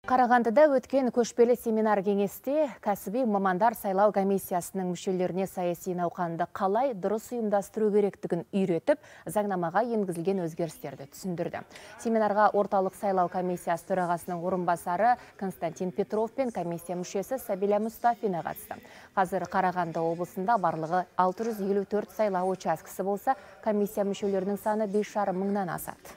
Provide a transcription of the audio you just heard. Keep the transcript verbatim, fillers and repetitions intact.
Қарағандыда өткен көшпелі семинар кеңесте кәсіби мамандар сайлау комиссиясының мүшелеріне саяси науқанды қалай дұрыс ұйымдастыру керектігін үйретіп, заңнамаға енгізілген өзгерістерді түсіндірді. Семинарға орталық сайлау комиссиясы төрағасының орынбасары Константин Петров пен комиссия мүшесі Сабиля Мұстафина қатысты. Қазір Қарағанды облысында барлығы алты жүз елу төрт сайлау учаскесі болса, комиссия мүшелерінің саны бес жарым мыңнан асады.